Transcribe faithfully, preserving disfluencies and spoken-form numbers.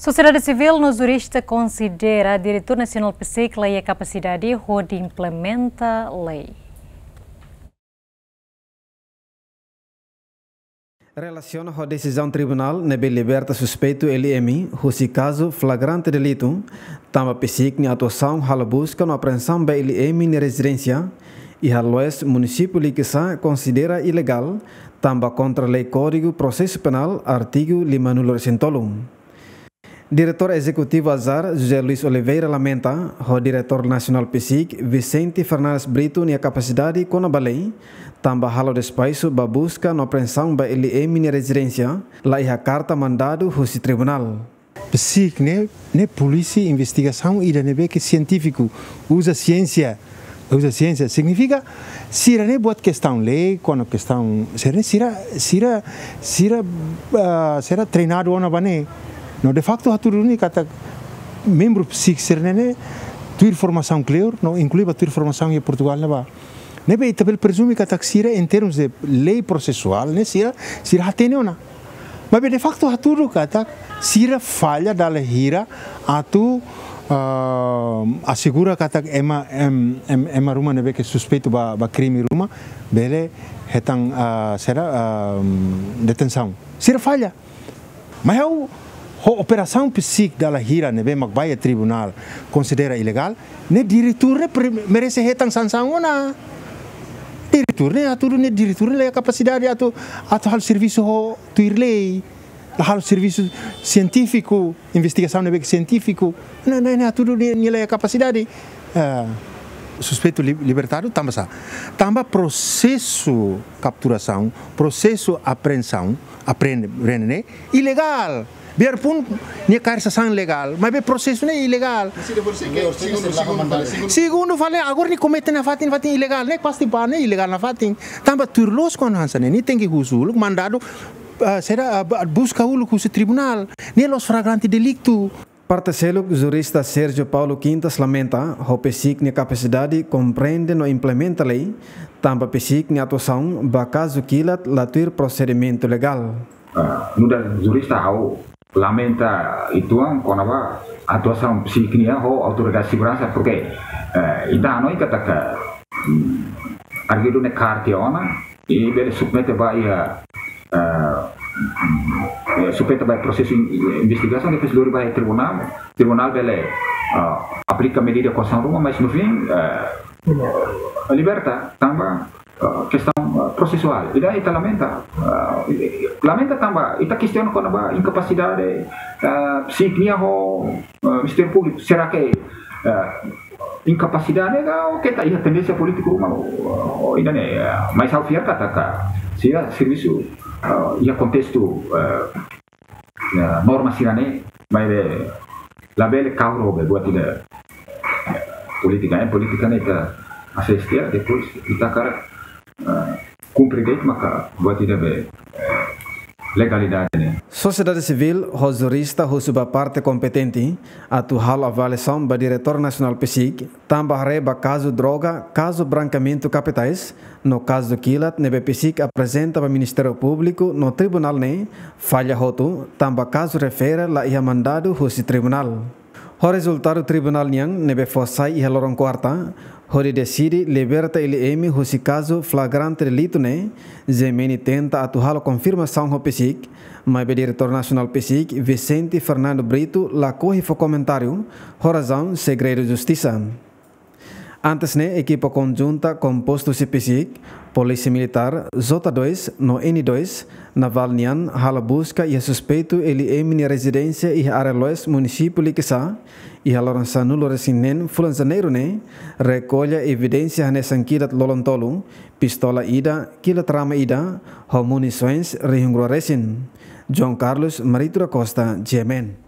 Sosiedade sivíl no jurista konsidera Diretór Nasionál PCIC la iha kapasidade hodi implementa lei. Relasiona ho desizaun tribunál ne'ebé liberta suspeitu L M husi kazu flagrante delitu, tanba PCIC nia atuasaun halo buska no apreensaun ba L M nia rezidénsia iha Areloes, munisípiu Likisá, konsidera ilegál, tanba kontra lei Kódigu Prosesu Penál, artigu lima-nulu-resin-tolu. Diretór Ezekutivu Azar, José Luis Oliveira, lamenta ho Diretór Nasionál PCIC, Vicente Fernandes Brito, nia kapasidade kona-ba lei, tanba halo despaisu ba buska no apreensaun ba L M nia rezidénsia, la iha karta mandadu husi tribunál. PCIC ne'e, ne'e polísia investigasaun ida ne'ebé ke sientífiku, uza siénsia, uza siénsia, signifika sira ne'e buat kestaun lei, kona kestaun, sira ne'e sira, sira, sira, ah, sira treinadu ona ba ne'e. No de facto hatudu duni katak membru PCIC sira ne'e, ne'e tuir formasaun kleur, no inklui ba tuir formasaun iha Portugál ne'ebá. Ne'ebé ita bele prezume katak sira, em termos de lei prosesuál, ne'e sira, sira hatene ona. Maibé de facto hatudu katak sira falla dala hira atu, ah, asegura katak ema, em, em, ema ruma ne'ebé ke suspeitu ba, ba krime ruma, bele hetan, ah, sira, ah, detensaun. Sira falla. Mas ha'u, ho operasaun PCIC dala hira ne'ebé mak ba iha tribunál konsidera ilegál, ne'e diretór ne'e pre-, merese hetan sansaun ona. Diretór ne'e hatudu ne'e diretór ne'e la iha kapasidade atu, atu halo servisu ho tuir lei. La halo servisu sientífiku, investigasaun ne'ebé ke sientífiku. Ne'e, ne'e, ne'e hatudu nia, nia la iha kapasidade. Ah, suspeitu li-, libertadu tanba sá? Tanba prosesu kapturasaun, prosesu apreensaun, apreende, apreende ne'e ilegál. Biarpun nia kaer sasán legál, maibé prosesu ne'e ilegál. Segundu, segundu, segundu. Segundu fali, agora nia komete nafatin, fatin ilegál, ne'e pasti ba ne'e ilegál nafatin. Tanba tuir loos kona hanesan ne'e, nia tenke husu uluk mandadu, ah, sira, ah, ba-, buska uluk husi tribunál. Ne'e la'ós flagrante delitu. Parte seluk, jurista Sérgio Paulo Quintas lamenta ho PCIC nia kapasidade komprende no implementa lei, tanba PCIC nia atuasaun ba kazu kilat la tuir prosedimentu legál. Ah, nu'udar jurista ha'u lamenta uitoan kona-ba atuasaun PCIC nian ho autoridade seguransa, porke, eh, ita hanoin katak, mm, arguidu ne'e kaer tiha ona, i bele submete ba iha, eh, eh, submete ba prosesu in-, investigasaun, depois lori ba iha tribunál, tribunál bele, ah, aplika medida koasaun ruma, mas no fim, eh, liberta, tanba, ah, kestaun, ah, prosesuál. Ida ita lamenta, ah, lamenta tanba ita kestiona kona-ba inkapasidade, ah, PCIC nian ho, ah, Ministériu Públiku. Será ke, ah, inkapasidade ka, ou ke ita iha tendénsia polítiku ruma, ou, ou ida-ne'e, ah, mas ha'u fiar katak sira servisu, ah, iha kontestu, ah, ya, norma sira-ne'e, maibé labele kaur ho be buat ida, eh, polítika, eh, polítika ne'e ita asiste, depois ita hakarak, eh, kumpre de'it maka buat ida be, eh, legalidade ne'e. Sosiedade sivíl ho jurista husu ba parte kompetente atu halo avaliasaun ba Diretór Nasionál PCIC, tanba haree ba kazu droga, kazu brankeamentu kapitais, no kazu kilat ne'ebé PCIC aprezenta ba Ministériu Públiku no tribunál ne'e falla hotu, tanba kazu refere la iha mandadu husi tribunál. Ho rezultadu tribunál nian ne'ebé fó sai iha loron kuarta, hodi deside liberta L M husi kazu flagrante delitu ne'e, G M N tenta atu halo konfirmasaun ho PCIC, maibé Diretór Nasionál PCIC, Vicente Fernando Brito, lakohi fó komentáriu, ho razaun segredu justisa. Antes ne'e, ekipa konjunta kompostu husi PCIC, Polísia Militár, J dois no N dois, Navál nian, halo buska iha suspeitu L M nia rezidénsia iha Areloes, munisípiu Likisá, iha loron sanulu-resin-neen fulan Janeiru ne'e, rekolla evidénsia hanesan kilat lolon tolu, pistola ida, kilat rama ida, ho munisoens rihun rua resin. João Carlos Marito da Costa, G M N.